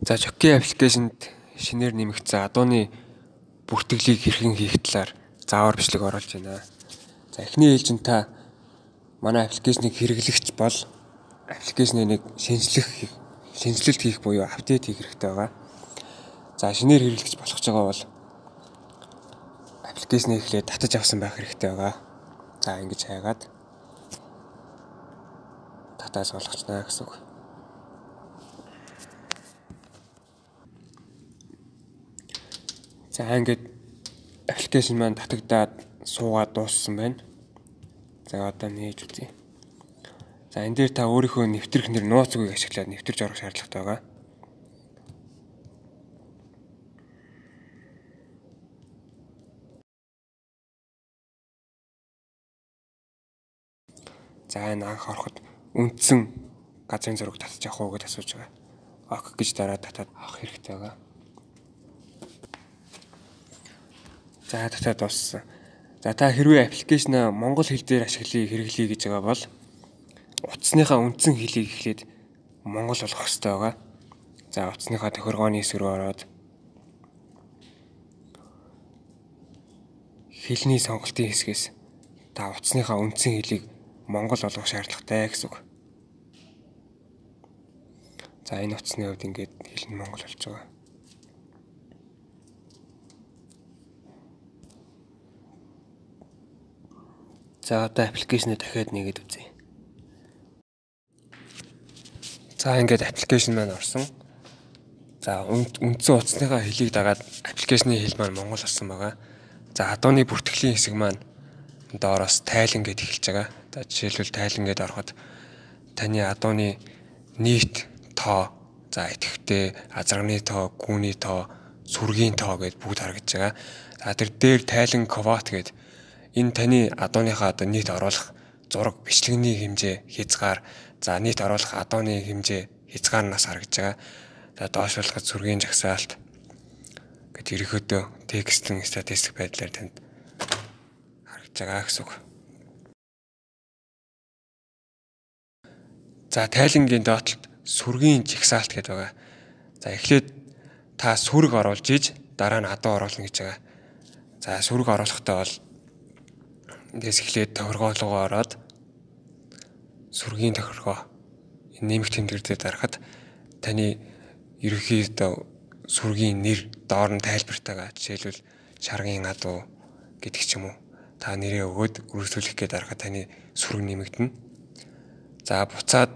За Jockey аппликейшнд шинээр нэмэгдсэн адууны бүртгэлийг хэрхэн хийх талаар заавар бичлэг оруулж байна. За эхний ээлжинд та манай аппликейшнийг хэрэглэгч бол аппликейшнийг шинжилэлт хийх буюу апдейт хийх хэрэгтэй байгаа. За шинээр хэрэглэгч болох ч байгаа бол аппликейшнийг эхлээд татаж авсан байх хэрэгтэй байгаа. За ингэж хайгаад татаж болгочнаа гэсэн үг. За ингээд аппликейшн маань татагдаад суугаад дууссан байна. За одоо нээж үзье. За энэ дээр та өөрийнхөө нэвтрэх нэр нууц үгийг ашиглаад нэвтэрч орох шаардлагатай байгаа. За энэ анх ороход үндсэн газрын зураг татаж авах уу гэж асууж байгаа. Ок гэж дараад татаад авах хэрэгтэй байгаа. За татаад дууссан. За та хэрвээ аппликейшнаа монгол хэл дээр хэрэглэе гэж байгаа бол утасныхаа үндсэн хэлийг эхлээд монгол болгох хэрэгтэй байгаа. За утасныхаа тохиргооны хэсэг рүү ороод хэлний сонголтын хэсгээс та утасныхаа үндсэн хэлийг монгол болгох шаардлагатай гэсэн үг. За энэ утасны хувьд ингээд хэл нь монгол болж байгаа. За одоо аппликейшнээ дахиад нэгээд үзье. За ингээд аппликейшн маань орсон. За үндсэн утасныхаа хэлийг дагаад аппликейшны хэл маань монгол болсон байгаа. За адууны бүртгэлийн хэсэг маань доороос тайлан гэд эхэлж байгаа. За жишээлбэл тайлан гэд ороход таны адууны нийт тоо, за идэвхтэй, азарганы тоо, гүүний тоо, сүргийн тоо гэд бүгд харагдаж байгаа. За тэр дээр тайлан квот гэд энэ таны адууныхаа нийт оруулах зураг бичлэгний хэмжээ хязгаар, за нийт оруулах адууны хэмжээ хязгаарнаас харагдаж байгаа. За доошлуулахад сүргийн жагсаалт гэж ерөнхийдөө текстэн статистик байдлаар танд харагдаж байгаа гэсэн үг. За тайлангийн доотлолд сүргийн жагсаалт гэдэг байгаа. За эхлээд та сүрэг оруулж иж дараа нь адуу оруулна гэж байгаа. За сүрэг оруулахдаа бол эндээс эхлээд тохиргоо руу ороод сүргийн тохиргоо нэмэх тэмдгэр дээр дарахад таны ерөнхийдөө сүргийн нэр доор нь тайлбартайгаа жишээлбэл шаргын адуу гэдэг ч юм уу та нэрээ өгөөд үргэлжлүүлэх гээд дарахад таны сүрэг нэмэгдэнэ. За буцаад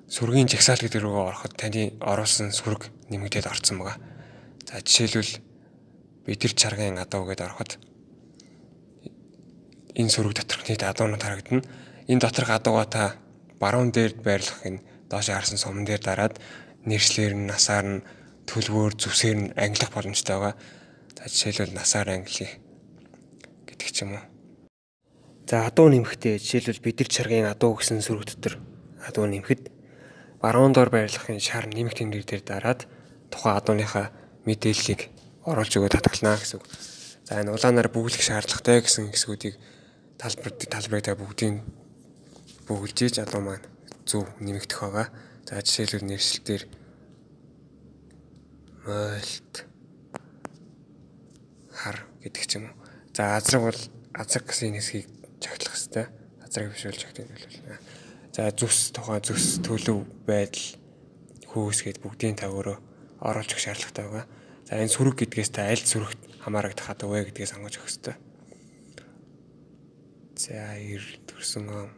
сүргийн жагсаалт гэдэг рүү ороход таны оруулсан сүрэг нэмэгдээд орсон байгаа. За жишээлбэл бидэр шаргын адуу гэдээ ороход энэ сүрэг доторх нийт адуунууд харагдана. Энэ доторх адуугаа та баруун дээр байрлах энэ доош харсан суман дээр дараад нэршлэр нь, насаар нь, төлбөр, зүсээр нь ангилах боломжтой байгаа. За жишээлбэл насаар ангилъя гэдэг ч юм уу. За адуу нэмэхдээ жишээлбэл бидэр чаргын адуу гэсэн сүрэг дотор адуу нэмэхэд баруун доор байрлах энэ шар нэмэх тэмдэг дээр дараад тухайн адууныхаа мэдээллийг оруулж өгөө татгалнаа гэсэн үг. За энэ улаанаар бүглэх шаардлагатай гэсэн хэсгүүдийг талбарыг та бүгдийг бүгэлж ийж адуу маань зөв нэмэгдэх байгаа. За жишээлбэл нэршилтээр мойлт хар гэдэг ч юм уу. За азраг бол азраг гэсэн хэсгийг чагтлах хэрэгтэй. Азраг биш бол чагтах нь бол. За зүс тухайн зүс төлөв байдал хөөс гэд бүгдийн та өөрөө оруулж өгөх шаардлагатай байгаа. За энэ сүрэг гэдгээс та аль сүрэгт хамаарагдах адуу вэ гэдгээс сонгож өгөх хэрэгтэй. За 90 төрсөн 15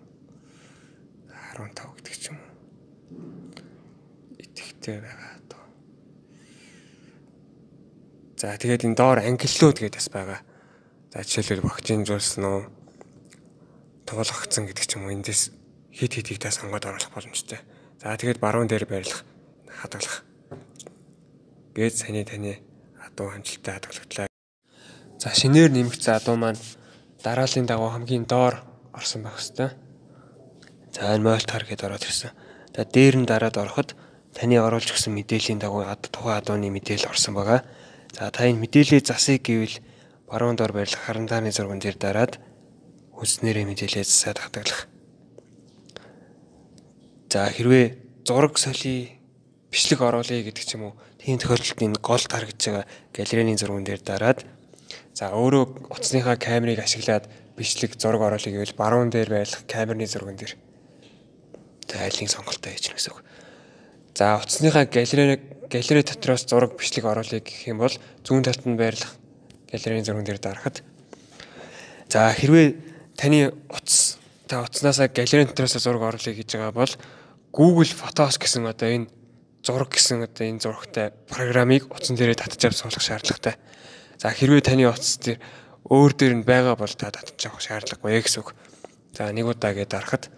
гэдэг ч юм уу. Итгэвтэй байгаа доо. За тэгээд энэ доор ангиллууд гэдээс байгаа. За жишээлбэл багжинжуулсан уу, туулгагдсан гэдэг ч юм уу. Эндээс хит хитийг та сонгоод оруулах боломжтой. За тэгээд баруун дээр байрлах, хадгалах. Гээд таны адуу хамжилттай хадгалагдлаа. За шинээр нэмэгдсэн адуу маань дарааллын дагуу хамгийн доор орсон байх хэвээр. За энэ мойлт хар гэдээ ороод ирсэн. За дээр нь дараад ороход таны оруулж өгсөн мэдээллийн дагуу тухайн адууны мэдээлэл орсон байгаа. За та энэ мэдээллийн засыг гэвэл баруун доор байрлах харандааны зурган дээр дараад үснэрээ мэдээлэл засаад хадгалах. За хэрвээ зураг солиё бичлэг оруулъя гэдэг ч юм уу. Тийм тохиолдолд энэ гол таргаж байгаа галерейны зурган дээр дараад за өөрөө утасныхаа камерыг ашиглаад бичлэг зураг оруулъя гэвэл баруун дээр байрлах камерны зурган дээр за айлын сонголтоо хийж гэнэ гэсэн үг. За утасныхаа галерей дотроос зураг бичлэг оруулъя гэх юм бол зүүн талд нь байрлах галерейны зурган дээр дарахад за хэрвээ таны утаснаас галерейн дотроос зураг оруулъя гэж байгаа бол Google Photos гэсэн одоо энэ зураг гэсэн одоо энэ зурагтай програмыг утсан дээрээ татчих суулгах шаардлагатай. За хэрвээ таны утас дээр өөр дээр нь байгаа бол та татчих авах шаардлагагүй гэсэн үг. За нэг удаагээ дарахад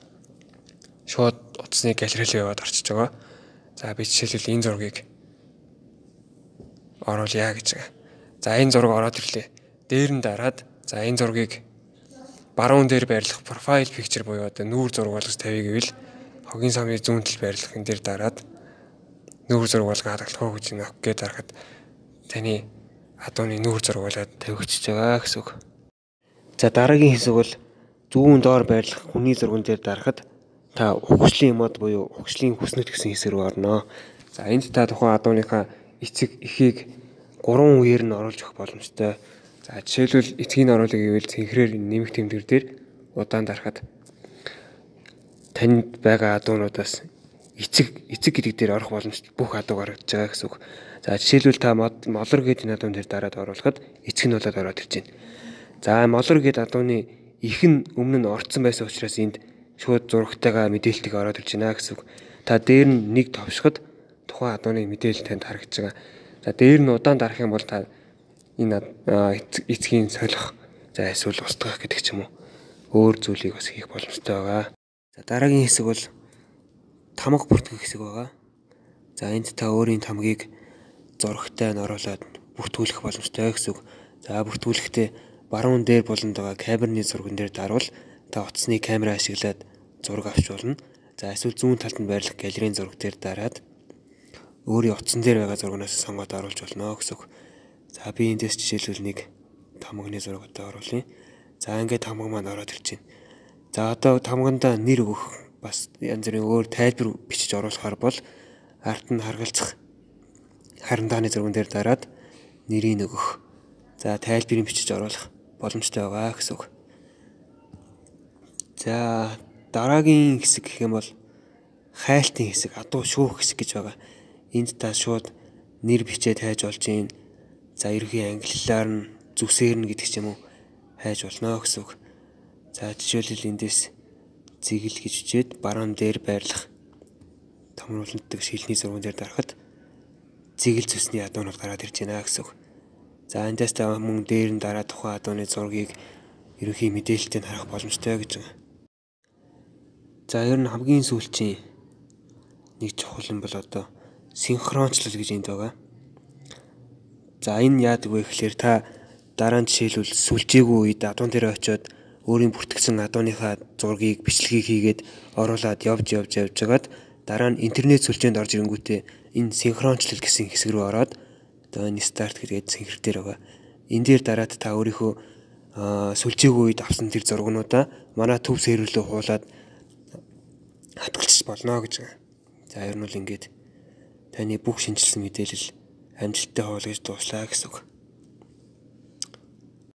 шууд утасны галерей рүү яваад орчиж байгаа. За би жишээлбэл энэ зургийг оруулъя гэж байгаа. За энэ зураг ороод ирлээ. Дээр нь дараад за энэ зургийг баруун дээр байрлах profile picture буюу одоо нүүр зураг болгож тавья гэвэл хогийн самны зүүн тал байрлах энэ дээр дараад нүүр зураг болгон хадгалах гэж нэг гээд дарахад таны адууны нүүр зураг болоод тавигдчихж байгаа гэсэн үг. За дараагийн хэсэг бол зүүн доор байрлах хүний зурган дээр дарахад та ухагшлын мод буюу ухагшлын хүснэт гэсэн хэсэг рүү орно. За энд та тухайн адууныхаа эцэг эхийг 3 үеэр нь оруулж өгөх боломжтой. За жишээлбэл эцгийг оруулъя гэвэл цэнхрээр нэмэх тэмдэг дээр удаан дарахад танд байгаа адуунуудаас эцэг гэдэг дээр орох боломжтой бүх адуу гаргаж байгаа гэсэн үг. За жишээлбэл та молор гэдэг энэ адуун дээр дараад оруулахад эцэг нь болоод ороод ирж байна. За молор гэдэг адууны их нь өмнө нь орцсон байсан учраас энд шууд зурагтайгаа мэдээлэлтийг ороод ирж байна гэсэн үг. Та дээр нь нэг товшоход тухайн адууны мэдээлэл танд харагдаж байгаа. За дээр нь удаан дарах юм бол та энэ эцгийн солих за эсвэл устгах гэдэг ч юм уу өөр зүйлийг бас хийх боломжтой байгаа. За дараагийн хэсэг бол тамга бүртгэх хэсэг байгаа. За энд та өөрийн тамгийг зурагтай нь оруулаад бүртгүүлэх боломжтой гэсэн үг. За бүртгүүлэхдээ баруун дээр болонд байгаа камерны зурган дээр дарвал та утасны камера ашиглаад зураг авч болно. За эсвэл зүүн талд нь байрлах галерейн зураг дээр дараад өөрийн утсан дээр байгаа зургаас сонгоод оруулж болно гэсэн үг. За би эндээс жишээлбэл нэг тамганы зураг одоо оруулъя. За ингээд тамга маань ороод ирж байна. За одоо тамгандаа нэр өгөх бас янз бүрийн өөр тайлбар бичиж оруулахаар бол арт нь харгалзах харандааны зурган дээр дараад нэрийг өгөх. За тайлбарыг бичиж оруулах боломжтой байгаа гэсэн үг. За дараагийн хэсэг гэх юм бол хайлтын хэсэг, адуу шүүх хэсэг гэж байгаа. Энд та шууд нэр бичээд хайж болж юм. За ерөнхий англиар нь зүсээр нь гэдэг ч юм уу хайж болно гэсэн үг. За жишээлбэл эндээс зэгэл гэж бичээд баруун дээр байрлах томруулалтдаг шилний зурган дээр дарахад зэгэл зүсний адуунууд гараад ирж байна гэсэн үг. За эндээс та мөн дээр нь дараа тухайн адууны зургийг ерөнхий мэдээлэлтэд харах боломжтой гэж байна. За ер нь хамгийн сүүлчийн нэг чухал юм бол одоо синхрончлал гэж энд байгаа. За энэ яадаг вэ гэхээр та дараа нь жишээлбэл сүлжээгүй үед адуун дээр очиод өөрийн бүртгэсэн адууныхаа зургийг бичлэгийг хийгээд оруулаад явж байгаад дараа нь интернет сүлжээнд орж ирэнгүүтээ энэ синхрончлал гэсэн хэсэг рүү ороод одоо энэ старт гэдэг цэнхэр дээр байгаа. Энэ дээр дараад та өөрийнхөө сүлжээгүй үед авсан тэр зургнуудаа манай төв сервер рүү хуулаад хадгалчих болно гэж байна. За ер нь бол ингээд таны бүх шинжилсэн мэдээлэл амжилттай хуваалгаж дууслаа гэсэн үг.